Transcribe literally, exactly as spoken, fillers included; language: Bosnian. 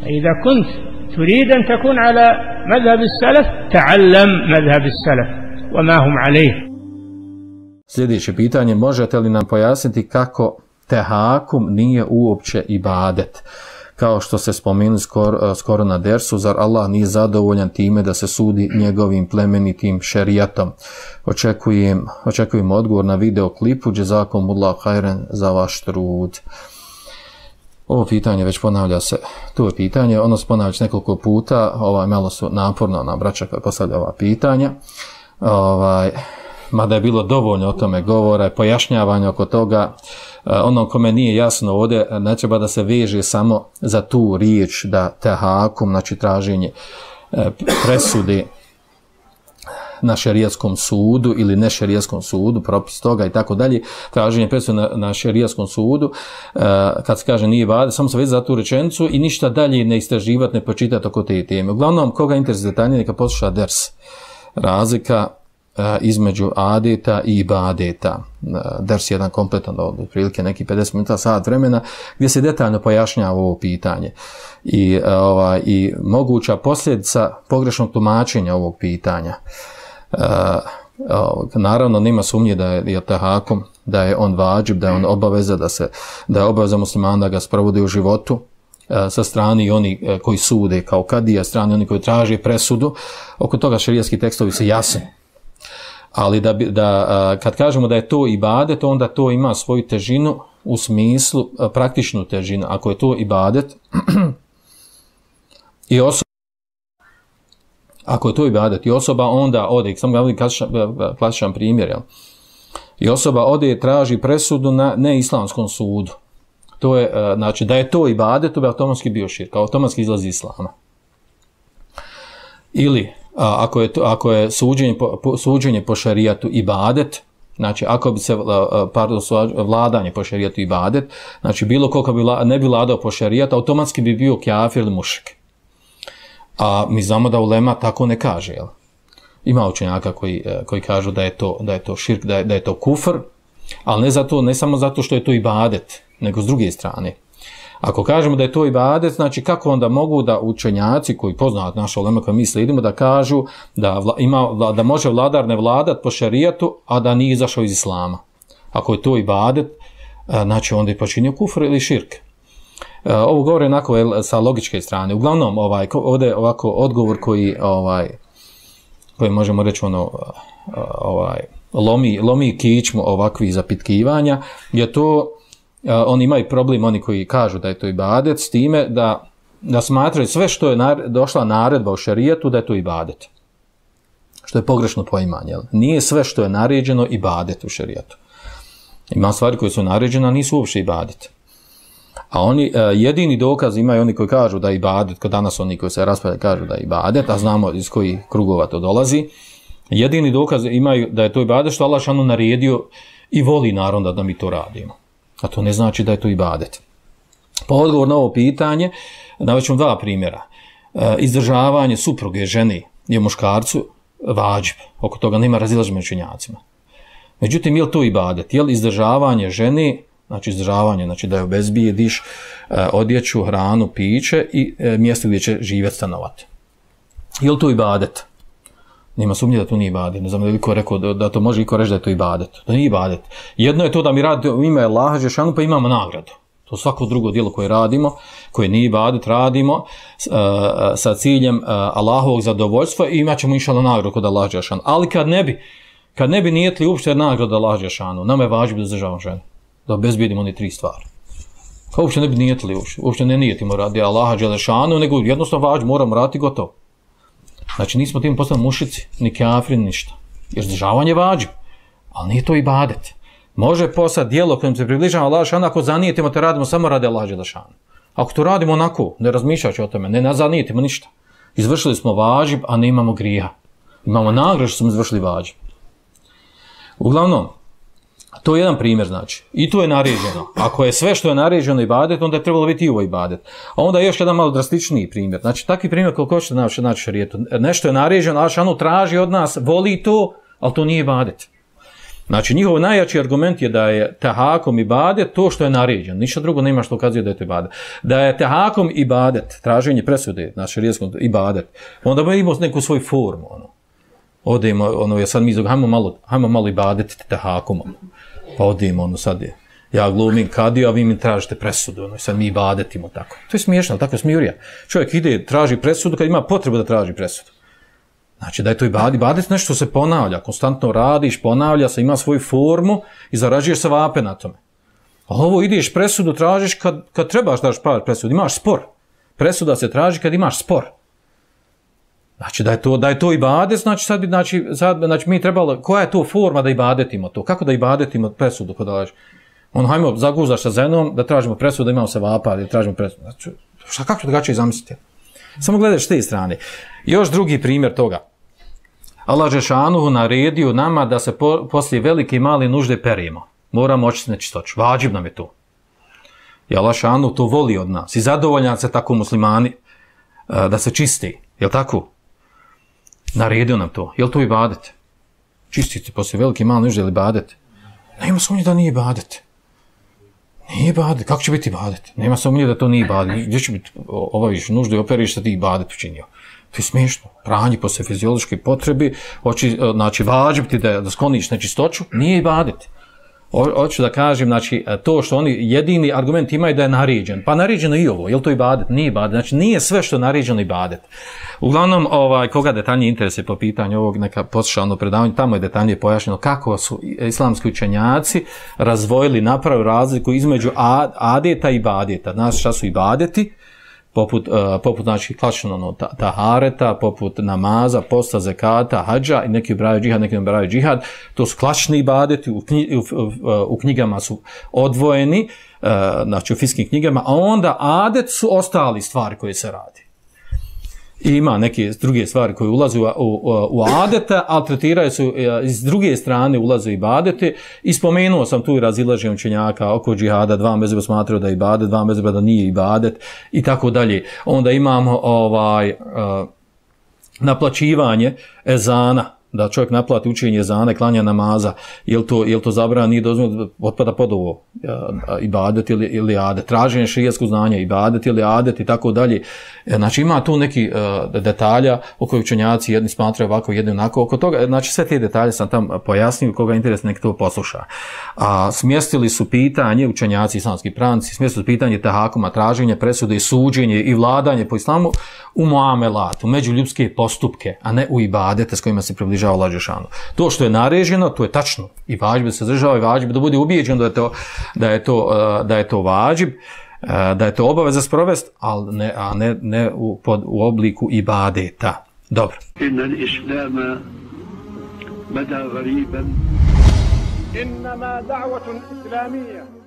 إذا كنت تريد أن تكون على مذهب السلف تعلم مذهب السلف وما هم عليه. Sljedeće pitanje, možete li nam pojasniti kako tehakum nije uopće ibadet? Kao što se spomenuli skoro, skoro na dersu, zar Allah nije zadovoljan time da se sudi njegovim plemenitim šerijatom? Očekujem, očekujem odgovor na video klipu. Džezakumullahu hajran za vaš trud. Ovo pitanje već ponavlja se, to je pitanje, ono se ponavlja nekoliko puta, ovaj, malo su naporno na braća koja postavlja ova pitanja, ovaj, mada je bilo dovoljno o tome govora, pojašnjavanja oko toga, ono kome nije jasno ovdje, ne treba da se veže samo za tu riječ da tehakum, znači traženje presude na šerijskom sudu ili ne šerijskom sudu, propis toga i tako dalje, traženje presude na, na šerijskom sudu, kad se kaže nije ibadet, samo se vezi za tu rečenicu i ništa dalje ne istraživati, ne počitati oko te teme. Uglavnom, koga interesuje detaljnije, neka posluša ders. Razlika između adeta i ibadeta. Ders je jedan kompletan, otprilike neki pedeset minuta, sat vremena, gdje se detaljno pojašnjava ovo pitanje i, ovaj, i moguća posljedica pogrešnog tumačenja ovog pitanja. Uh, uh, naravno nema sumnje da je, je tehakum, da je on vađib, da je on obaveza, da, se, da je obaveza muslimana da ga sprovode u životu, uh, sa strani oni uh, koji sude kao kadija, strani oni koji traže presudu. Oko toga šerijski tekstovi su jasni. Ali da, da, uh, kad kažemo da je to ibadet, onda to ima svoju težinu u smislu, uh, praktičnu težinu. Ako je to ibadet i osoba, ako je to ibadet i osoba onda ode, samo ga volim klasičan primjer, jel? I osoba ode i traži presudu na neislamskom sudu. To je, znači, da je to ibadet, to bi automatski bio širk, automatski izlazi islama. Ili, a, ako je, to, ako je suđenje, po, suđenje po šerijatu ibadet, znači, ako bi se, pardon, vladanje po šerijatu ibadet, znači, bilo koliko bi ne bi vladao po šerijatu, automatski bi bio kafir ili mušrik. A mi znamo da ulema tako ne kaže, jel? Ima učenjaka koji, koji kažu da je to, da je to širk, da je, da je to kufr, ali ne, zato, ne samo zato što je to ibadet, nego s druge strane. Ako kažemo da je to ibadet, znači kako onda mogu da učenjaci koji poznaju naša ulema koja mi slijedimo da kažu da, vla, ima, da može vladar ne vladat po šerijatu, a da nije izašao iz islama. Ako je to ibadet, znači onda je počinio kufr ili širk. Uh, ovo govore onako je, sa logičke strane. Uglavnom, ovaj, ovdje ovako odgovor koji, ovaj, koji možemo reći ono, uh, ovaj, lomi, lomi kičmu ovakvih zapitkivanja, je to, uh, oni imaju problem, oni koji kažu da je to ibadet, s time da, da smatraju sve što je nar, došla naredba u šerijetu da je to ibadet. Što je pogrešno poimanje. Jel? Nije sve što je naređeno ibadet u šerijetu. Ima stvari koje su naređene, a nisu uopšte ibadet. A oni, jedini dokaz imaju oni koji kažu da je ibadet, kod danas oni koji se raspravljaju kažu da je ibadet, a znamo iz kojih krugova to dolazi, jedini dokaz imaju da je to ibadet što Allah šanu naredio i voli naravno da mi to radimo. A to ne znači da je to ibadet. Pa odgovor na ovo pitanje, navešćemo dva primjera. Izdržavanje supruge žene je muškarcu vađib, oko toga nema razilaženja među učenjacima. Međutim, je li to ibadet? Je li izdržavanje žene, znači izdržavanje, znači da je obezbijediš e, odjeću, hranu, piće i e, mjesto gdje će živjeti, stanovati. Je li to ibadet? Nema sumnje da to nije ibadet. Ne znam da je liko rekao da, da to može iko reći da je to ibadet. To nije ibadet. Jedno je to da mi radimo u ime Allaha dželešanu pa imamo nagradu. To svako drugo djelo koje radimo, koje nije ibadet, radimo uh, sa ciljem uh, Allahovog zadovoljstva i imat ćemo inšallah nagradu kod Allaha dželešanu. Ali kad ne bi, kad ne bi nijetli uopšte nagradu Allaha dželešanu, nama je važno da izdržavamo ženu. Da obezbijedimo one tri stvari. Kao uopšte ne bi nijetili, uopšte, uopšte ne nijetimo radi Allaha dželešanu, nego jednostavno vađ, moramo raditi gotovo. Znači nismo tim postali mušici, ni kafiri, ni ništa. Jer izdržavanje vađi, ali nije to ibadet. Može postati djelo kojim se približava Allaha dželešanu ako zanijetimo te radimo samo radi Allaha dželešanu. Ako to radimo onako, ne razmišljajući o tome, ne, ne zanijetimo ništa. Izvršili smo vađib, a ne imamo grija. Imamo nagradu što smo izvršili vađib. Uglavnom, to je jedan primjer, znači. I to je naređeno. Ako je sve što je naređeno ibadet, onda je trebalo biti i ovo ibadet. A onda je još jedan malo drastičniji primjer. Znači, takvi primjer koliko hoćete naći naći šerijetu. Nešto je naređeno, Allah šanu traži od nas, voli to, ali to nije ibadet. Znači, njihov najjači argument je da je tehakom ibadet to što je naređeno. Ništa drugo nema što ukazuje da je to ibadet. Da je tehakom ibadet, traženje presude na šerijskom ibadet, onda bi imao neku svoju formu. Ono. Odemo, ono, ja sad mi izog, hajmo malo, hajmo malo ibadetiti tehakom. Ono. Pa odemo, ono, sad je, ja glumim kadiju, a vi mi tražite presudu. Ono, sad mi ibadetimo tako. To je smiješno, tako je smijurija. Čovjek ide, traži presudu kad ima potrebu da traži presudu. Znači da je to ibadet, ibadet nešto se ponavlja, konstantno radiš, ponavlja se, ima svoju formu i zarađuješ se vape na tome. A ovo ideš presudu, tražiš kad, kad trebaš daš pravi presudu, imaš spor. Presuda se traži kad imaš spor. Znači da je to, da je to ibadet, znači sad bi, znači, sad, znači mi trebalo, koja je to forma da ibadetimo to? Kako da ibadetimo presudu kod daš? On, hajmo, zaguzaš sa ženom, da tražimo presudu, da imamo se vapa, da tražimo presudu. Znači, šta, kako drugačije zamisliti? Samo gledaš s te strane. Još drugi primjer toga. Allah Žešanuhu naredio nama da se po, poslije velike i male nužde perimo. Moramo očistiti nečistoću. Vađib nam je to. I Allah Žešanuhu to voli od nas. I zadovoljan se tako muslimani da se čisti. Jel' tako? Naredio nam to. Jel' to ibadet? Čistiti poslije velike i male nužde ili ibadet? Nema sumnje da nije ibadet. Nije ibadet. Kako će biti ibadet? Nema sumnje da to nije ibadet. Gdje će biti obaviš nuždu i operiš da ti ibadet učinio? To je smiješno. Pranje posle fiziološke potrebi, hoći, znači vađib ti da, da skloniš nečistoću, nije ibadet. Hoću da kažem, znači, to što oni jedini argument imaju da je naređen. Pa naređeno i ovo, je li to ibadet? Nije ibadet. Znači, nije sve što je naređeno ibadet. Uglavnom, ovaj, koga detaljnije interese po pitanju ovog, neka posluša ono predavanje, tamo je detaljnije pojašnjeno kako su islamski učenjaci razvojili, napravili razliku između adeta i ibadeta. Znači, šta su ibadeti? poput, uh, poput znači, klasično ono, tahareta, poput namaza, posta, zekata, hadža, i neki ubraju džihad, neki ubraju džihad. To su klasični ibadeti, u, knji, u, u, u knjigama su odvojeni, uh, znači u fiskim knjigama, a onda adet su ostali stvari koje se radi. I ima neke druge stvari koje ulaze u, u, u adete, ali tretiraju su, iz druge strane ulaze ibadete. I spomenuo sam tu i razilaženje učenjaka oko džihada, dva mezheba smatraju da je ibadet, dva mezheba da nije ibadet i tako dalje. Onda imamo ovaj, uh, naplaćivanje ezana, da čovjek naplati učenje ezana i klanja namaza, je to, je to zabrana, nije dozvoljeno, otpada pod ovo, ibadet ili, ili adet, traženje šerijatskog znanja, ibadet ili adet i tako dalje. Znači ima tu neki uh, detalja o kojih učenjaci jedni smatraju ovako, jedni onako, oko toga, znači sve te detalje sam tam pojasnio, koga interes nek to posluša. A smjestili su pitanje, učenjaci islamski pravnici, smjestili su pitanje tahakuma, traženje presude i suđenje i vladanje po islamu u muamelatu, među ljudske postupke, a ne u ibadete s kojima se približava Allah dželešanu. To što je naređeno, to je tačno. I vađib da se zadržava i vađib da bude ubijeđen da je to, da je to, da je to vađib, da je to obaveza sprovest, ali ne, a ne, ne u, pod, u obliku ibadeta. Dobro. Inna al-islama bada ghariban. Innama da'watun islamiyya